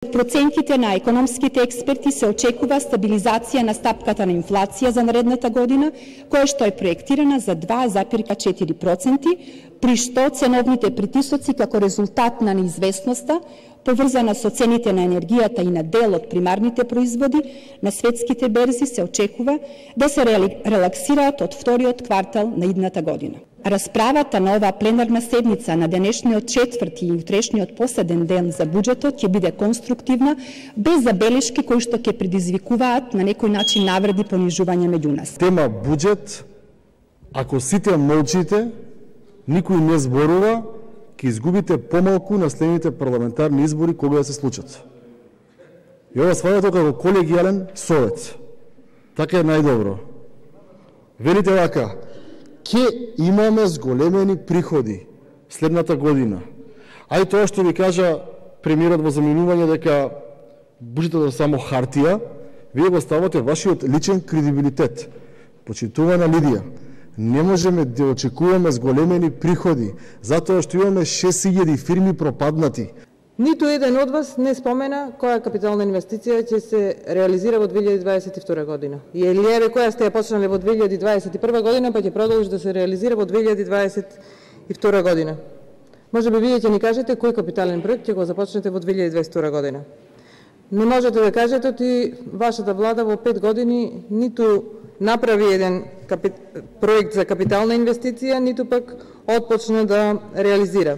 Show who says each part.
Speaker 1: Според проценките на економските експерти се очекува стабилизација на стапката на инфлација за наредната година, која што е проектирана за 2,4%, при што ценовните притисоци како резултат на неизвестноста поврзана со цените на енергијата и на дел од примарните производи на светските берзи се очекува да се релаксираат од вториот квартал на идната година. Расправата на оваа пленарна седница на денешниот четврти и утрешниот последен ден за буџетот ќе биде конструктивна, без забелешки кои што ќе предизвикуваат на некој начин навреди понижување меѓу нас.
Speaker 2: Тема буџет, ако сите молчите, никој не зборува, ќе изгубите помалку на следните парламентарни избори кога да се случат. И ова сваѓате како колегијален совет. Така е најдобро. Велите вака, ќе имаме зголемени приходи следната година. А и тоа што ви кажа премиерот во заминување дека буџетот е само хартија, вие го ставате вашиот личен кредибилитет. Почитувана Лидија, не можеме да очекуваме зголемени приходи, затоа што имаме 6000 фирми пропаднати.
Speaker 3: Ниту еден од вас не спомена која капитална инвестиција ќе се реализира во 2022 година. И еве која сте ја почнале во 2021 година, па ќе продолжи да се реализира во 2022 година. Може би вие ќе ни кажете кој капитален проект ќе го започнете во 2022 година. Не можете да кажете оти вашата влада во 5 години ниту направи еден проект за капитална инвестиција, ниту пак отпочна да реализира.